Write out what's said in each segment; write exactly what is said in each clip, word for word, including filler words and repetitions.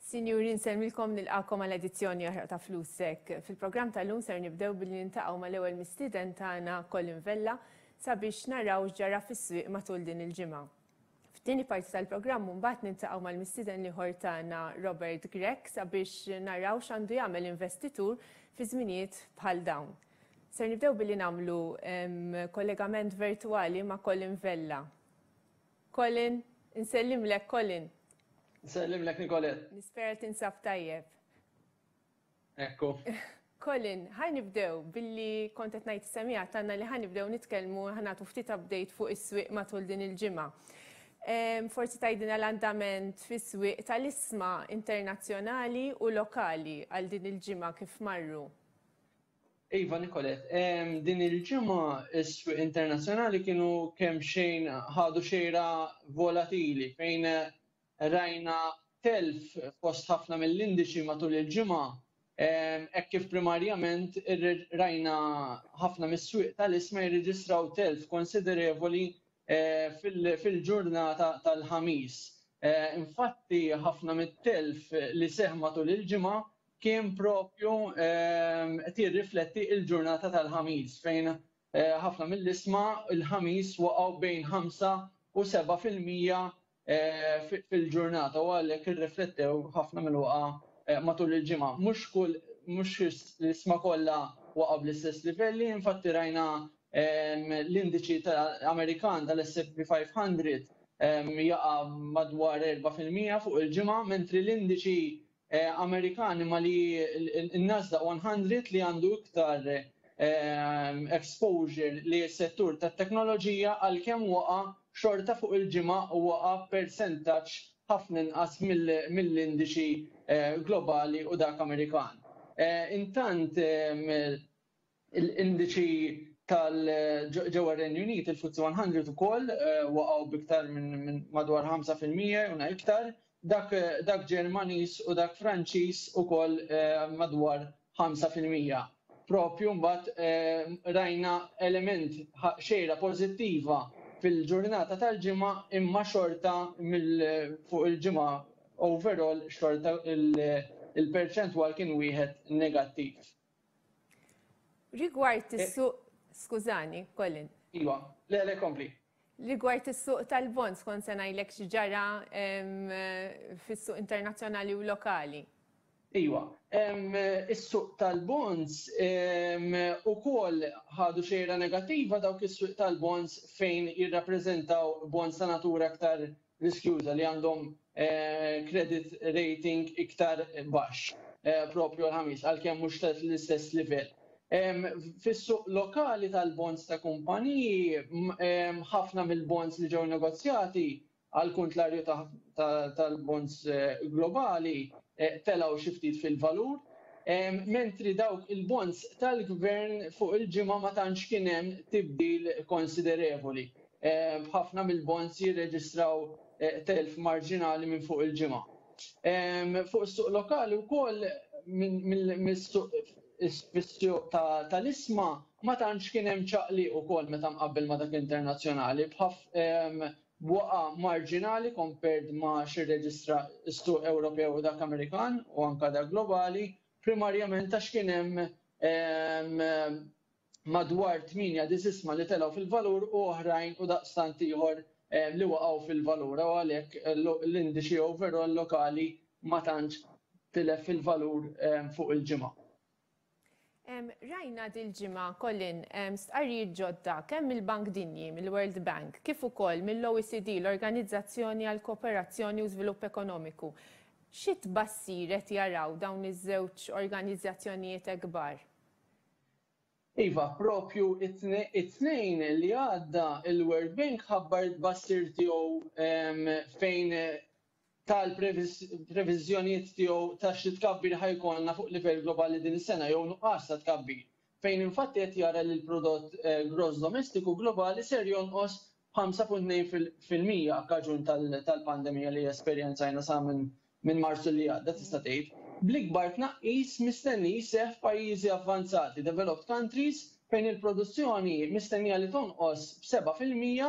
Sinjuri, nsellmilkom, nilqagħkom għal edizzjoni oħra ta' Flusek. Fil-programm tal-lum ser nibdew billi niltaqgħu mal-ewwel mistieden tagħna, Colin Vella, sabiex naraw x'ġara fis-swieq matul din il-ġimgħa. F'tieni parti tal-programm mbagħad niltaqgħu mal-mistieden l-ieħor tagħna, Robert Grech, sabiex naraw x'għandu jagħmel investitur fi żminijiet bħal dawn. Ser nibdew billi nagħmlu kollegament virtuali ma' Colin Vella. Colin, insellimlek, Colin. Nsellimlek, Nicolette. Nispera tinsab tajjeb. Ekku. Colin, ħa nibdew billi kont qed ngħid semija tagħna li ħa nibdew nitkellmu, ħa nagħtu ftit update fuq is-swieq matul din il-ġimgħa. Forsi tgħidilna l-andament fis-swieq tal-ishma internazzjonali u lokali għal din il-ġimgħa kif marru. Iva, Nicolette, din il-ġimgħa is-swieq internazzjonali kienu kemm xejn ħadu xejra volatili, fejn rajna telf fost ħafna mill-indiċi matul il-ġimgħa, hekk kif primarjament rajna ħafna mis-swieq tal-ishma jirreġistraw telf konsiderevoli eh, fil-ġurnata tal-Ħamis. Eh, infatti ħafna mit-telf li seħ matul il-ġimgħa kien propju qed jirrifletti il-ġurnata tal-Ħamis, fejn eh, ħafna mill-ishma il-Ħamis waqgħu bejn ħamsa u seba' fil-mija Eh, fil-ġurnata u għalhekk irriflettew ħafna mill-waqa eh, matul il-ġimgħa. Mhux kull mhux l-ishma kollha waqgħu bl-istess livelli, infatti rajna l-indiċi Amerikan tal-S and P five hundred jaqa' madwar erba' fil-mija fuq il-ġimgħa, mentri l-indiċi eh, Amerikan ma li n-Nasdaq one hundred, li għandu iktar exposure li s-settur tat-teknoloġija, għalkemm waqa' xorta fuq il-ġimgħa waqa' percentaġġ ħafna inqas mill-indiċi eh, globali u dak Amerikan. Eh, intant l-indiċi tal-ġewwa Renju Unit, il-F T S E one hundred, ukoll eh, waqgħu biktar minn madwar ħamsa fil-mija u iktar, dak, dak Ġermaniż u dak Franċiż ukoll madwar ħamsa fil-mija. Propju mbagħad rajna element xejra pożittiva fil-ġurnata tal-Ġimgħa, imma xorta fuq il-ġimgħa overall xorta il-perċentwal kien wieħed negattiv. Rigward eh, is-suq, skużani, Colin. Iva, le, le, kompli. Rigward is-suq tal-bonds, kont se ngħidlek x'ġara fis-suq internazzjonali u lokali. Iwa, is-suq tal-bonds ukoll ħadu xejra negattiva, dawk is-suq tal-bonds fejn jirrappreżentaw bonds ta' natura aktar riskjuża li għandhom eh, credit rating iktar baxx eh, propju l-Ħamis, għalkemm mhux l-istess livell. Fis-suq lokali tal-bonds ta' kumpaniji, ħafna mill-bonds li ġew negozjati, għal kuntrarju tal-bonds eh, globali, eh, telaw xi ftit fil-valur, mentri dawk il-bonds tal-gvern fuq il-ġimgħa ma tantx kien hemm tibdil konsiderevoli. Ħafna mill-bonds jirreġistraw eh, telf marġinali minn fuq il-ġimgħa. Fuq is-suq lokali wkoll, mis-suq tal-ishma ma tantx kien hemm ċaqli ukoll meta mqabbel ma dak internazzjonali, b'waqa marġinali compared ma x'irreġistra s-suq Ewropew u dak Amerikan u anka dak globali, primarjament għax kien hemm madwar tmienja ishma li telgħu fil-valur u oħrajn u daqstant ieħor li waqgħu fil-valur, u għalhekk l-indiċi overall lokali ma tantx tilef fil-valur fuq il-ġimgħa. Rajna dil-ġimgħa, Colin, stqarrijiet ġodda kemm mill-Bank Dinji, mill-World Bank, kif ukoll mill-O E C D, l-Organizzazzjoni għal Kooperazzjoni u Żvilupp Ekonomiku. Xi tbassir qed jaraw dawn iż-żewġ organizzazzjonijiet kbar? Iva, propju it-Tnejn li għadda il-World Bank ħabbar tbassir tiegħu fejn tal-previżjonijiet tiegħu ta' xi tkabbir ħa jkollna fuq livell globali din is-sena jew nuqqas ta' tkabbir. Fejn infatti qed jara li l-prodott eh, gross domestiku globali ser jonqos ħamsa punt tnejn fil-mija kaġun tal-pandemija li esperjenzajna sa minn minn Marzu li għadda, tista' tgħid. Bl-ikbar tnaqqis mistenni jseħħ f'pajjiżi avvanzati, developed countries, fejn il-produzzjoni mistennija li tonqos b'seba' fil-mija,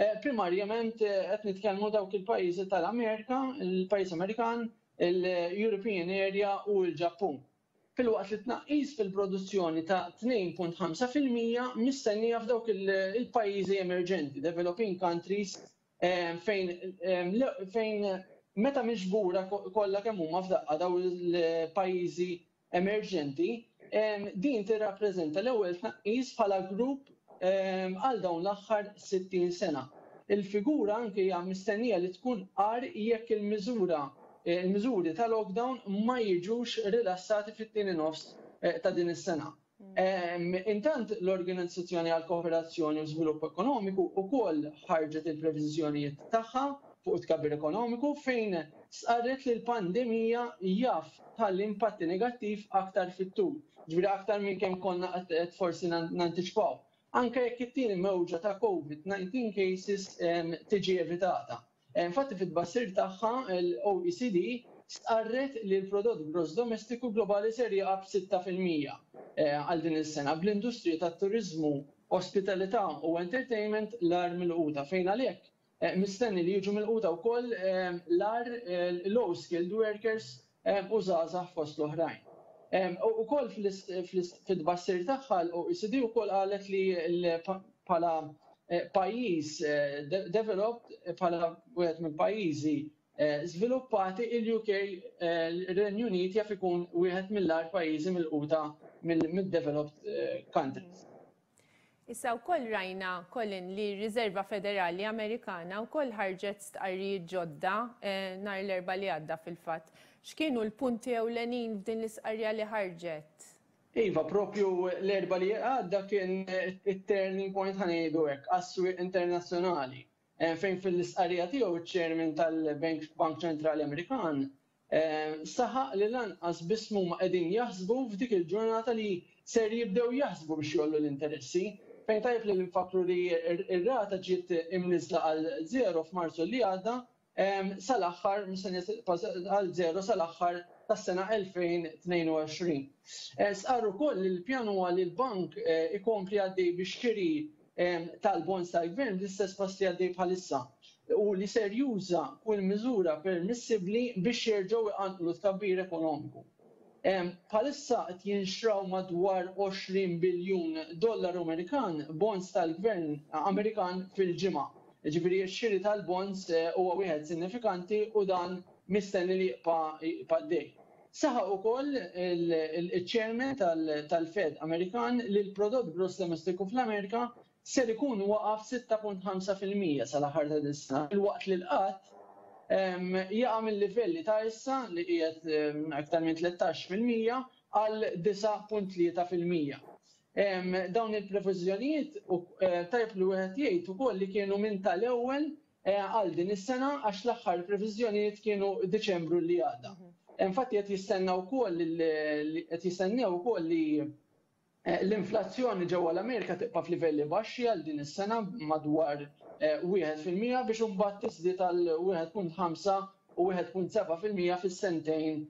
eh, primarjament eh, qed nitkellmu dawk il-pajjiżi tal-Amerika, il-pajjiż Amerikan, il-European Area u l-Ġappun. Filwaqt li tnaqqis fil-produzzjoni ta' tnejn punt ħamsa fil-mija mistennija f'dawk il-pajjiżi emerġenti, developing countries, fejn, fejn meta miġbura kollha kemm huma f'daqqa daw il-pajjiżi emerġenti, din tirrappreżenta l-ewwel tnaqqis bħala grupp għal dawn l-aħħar sittin sena. Il-figura anke hija mistennija li tkun qar jekk il-miżura il-miżuri ta' lockdown ma jiġux rilassati fit-tieni nofs ta' din is-sena. Intant l-Organizzazzjoni għal Kooperazzjoni u Żvilupp Ekonomiku wkoll ħarġet il-previżjonijiet tagħha fuq it-tkabbir ekonomiku fejn stqarret li l-pandemija jaf tħalli impatti negattiv aktar fit-tul, ġifieri aktar minn kemm konna qed forsi nantiċipaw. Anke jekk it-tieni mewġa ta' COVID nineteen cases tiġi evitata. Infatti fit-tbassir tagħha l-O E C D stqarret li l-prodott gross domestiku globali ser jaqa' b'sitta fil-mija għal din is-sena bl-industrija tat-turiżmu, ospitalità u entertainment l-agħar milquta, fejn għalhekk mistenni li jiġu milquta wkoll l-agħar low skilled workers u żgħażagħ fost l-oħrajn. Ukoll fil-tbassir tagħha l-O E C D wkoll qalet li bħala pajjiż developed, bħala wieħed minn pajjiżi żviluppati, il-U K, ir-Renju Unit jaf ikun wieħed mill-agħar pajjiżi milquta mid-developed countries. Issa wkoll rajna, Colin, li r-Riserva Federali Amerikana wkoll ħarġet stqarrijiet ġodda nhar l-Erbgħa li għadda fil-fatt. X'kienu l-punti ewlenin f'din l-istqarrija li ħarġet? Iva, propju l-Erbgħa li għadda kien it-turning point ħanejdu hekk għas-swieq internazzjonali, fejn fil-istqarrija tiegħu iċ-chairman tal-Bank Bank Ċentrali Amerikan saħaq li lanqas biss huma qegħdin jaħsbu f'dik il-ġurnata li ser jibdew jaħsbu biex jollu l-interessi. Fejn tajjeb li nfakru li r-rata ġiet imniżla għal zero f'Marzu li għadda, sal-aħħar, mistennija għal zero sal-aħħar tas-sena elfejn tnejn u għoxrin. Sqarru wkoll li l-pjan huwa li l-bank ikompli għaddej biex xiri tal-bonds tal-gvern bl-istess pass li għaddej bħalissa u li ser juża kull miżura permissibbli biex jerġgħu iqanqlu tkabbir ekonomiku. Bħalissa qed jinxraw madwar għoxrin biljun dollaru Amerikan bonds tal-gvern Amerikan fil-ġimgħa. Ġifieri x-xiri tal-bonds huwa wieħed sinifikanti u dan mistenni li jibqa' għaddej. Saħaq ukoll il-chairman tal-Fed Amerikan li l-prodott gross domestiku fl-Amerika ser ikun waqaf sitta punt ħamsa fil-mija sal-aħħar ta' din is-sena, filwaqt li l-qatt jaqa' mill-livelli ta' issa li qiegħed aktar minn tlettax fil-mija għal disa' punt tlieta fil-mija. Dawn il-previżjonijiet tajjeb li wieħed jgħid ukoll li kienu minn tal-ewwel għal din is-sena għax l-aħħar previżjonijiet kienu Diċembru li għadda. Infatti qed jistennew ukoll li qed jistennew ukoll li l-inflazzjoni ġewwa l-Amerika tibqa' f'livelli baxxi għal din is-sena madwar wieħed fil-mija biex imbagħad tiżdied għal wieħed punt ħamsa u wieħed punt seba' fil-mija fis-sentejn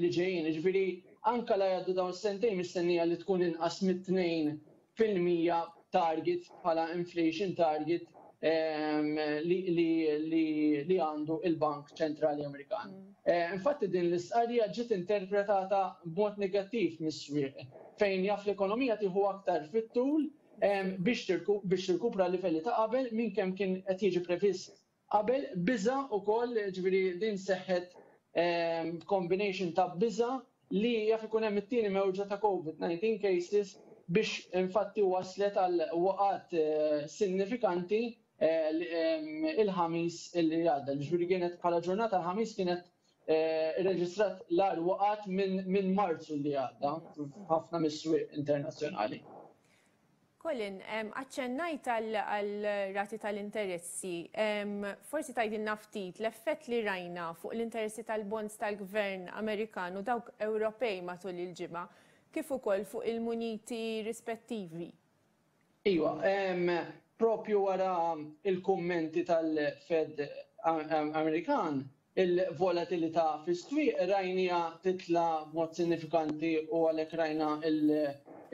li ġejjin. Jiġifieri anke la jgħaddu dawn is-sentejn mistennija li tkun inqas mit-tnejn fil-mija target bħala inflation target li għandu il-Bank Ċentrali Amerikan. Infatti din l-istqarrija ġiet interpretata b'mod negattiv mis-swieq fejn jaf l-ekonomija tieħu aktar fit-tul biex tirkupra livelli ta' qabel minn kemm kien qed jiġi previst qabel. Biża' ukoll, ġifieri din seħħet combination ta' biża' li jaf ikun hemm it-tieni mewġa ta' COVID nineteen cases biex infatti waslet għal waqgħat sinifikanti il-ħamis li għadda. Ġifieri kienet bħala ġurnata l-ħamis kienet irreġistrat l-agħar waqgħat minn Marzu li għadda f'ħafna mis-swieq internazzjonali. Colin, aċċennajt għal rati tal-interessi. Forsi tgħidilna ftit l-effett li rajna fuq l-interessi tal-bonds tal-gvern Amerikan u dawk Ewropej matul il-ġimgħa, kif ukoll fuq il-muniti rispettivi. Iva, propju wara il-kummenti tal-Fed Amerikan, il-volatilità fis-swieq rajnija titla b'mod sinifikanti u għalhekk rajna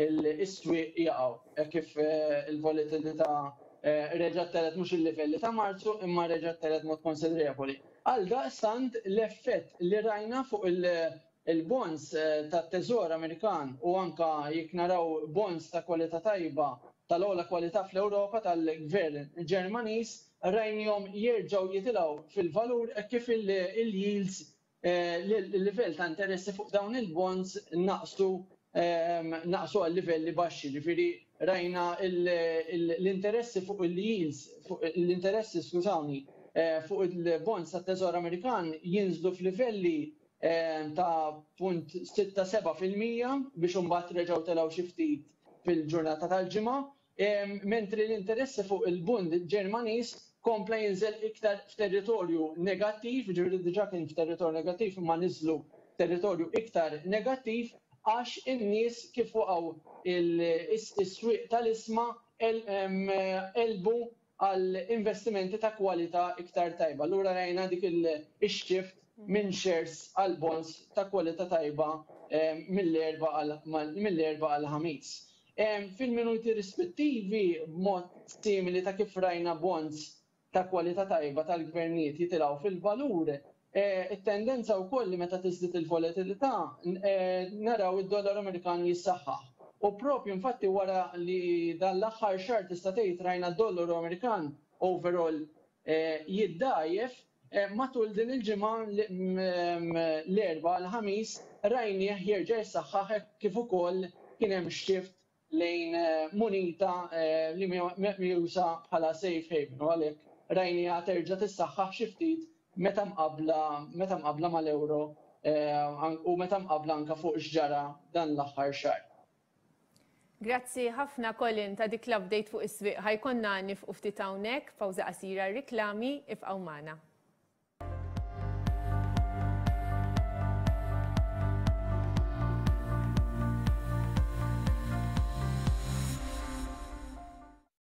il-swieq jaqgħu kif il-volatilità Reġgħet telgħet mhux il-livelli ta' Marzu, imma reġgħet telgħet mod konsiderevoli. Għal daqstant l-effett li rajna fuq il-bonds tat-Teżor Amerikan u anka jekk naraw bonds ta' kwalità tajba, tal-ogħla kwalità fl-Ewropa, tal-gvern Ġermaniż, rajnihom jerġgħu jitilgħu fil-valur kif il-yields, il-livell ta' interessi fuq dawn il-bonds naqsu naqsu għal livelli baxxi. Ġifieri rajna l-interessi fuq il-yields, l-interessi, skużawni, fuq il-bonds tat-Teżor Amerikan jinżlu f'livelli ta' punt sitta seba fil-mija biex imbagħad reġgħu telgħu xi ftit fil-ġurnata tal-Ġimgħa, mentri l-interessi fuq il-Bund Ġermaniż kompla jinżel iktar f'territorju negattiv, ġifieri diġà kien f'territorju negattiv imma niżlu territorju iktar negattiv għax in-nies kif waqgħu is-swieq tal-ishma qelbu għal investimenti ta' kwalità iktar tajba. Allura rajna dik il-shift minn shares għal bonds ta' kwalità tajba mill-Erbgħa għal Ħamis. Fil-minuti rispettivi, b'mod simili ta' kif rajna bonds ta' kwalità tajba tal-gvernijiet jitilgħu fil-valur, it-tendenza wkoll li meta tiżdied il-volatilità naraw id-dollaru Amerikan jissaħħaħ. U propju infatti wara li dan l-aħħar xahar tista' tgħid rajna d-dollaru Amerikan overall jiddajjef, matul din il-ġimgħa, l-Erbgħa l-Ħamis, rajnieh jerġa' jissaħħaħ kif ukoll kien hemm shift lejn munita li meqjusa bħala safe haven u għalhekk rajniha terġa' tissaħħaħ xi ftit meta mqabla meta mqabla mal-euro u meta mqabla anka fuq x'ġara dan l-aħħar xahar. Grazzi ħafna, Colin, ta' dik l-update fuq is-swieq. Ħa jkollna nieqfu ftit hawnhekk, pawża qasira, riklami, ibqgħu magħna.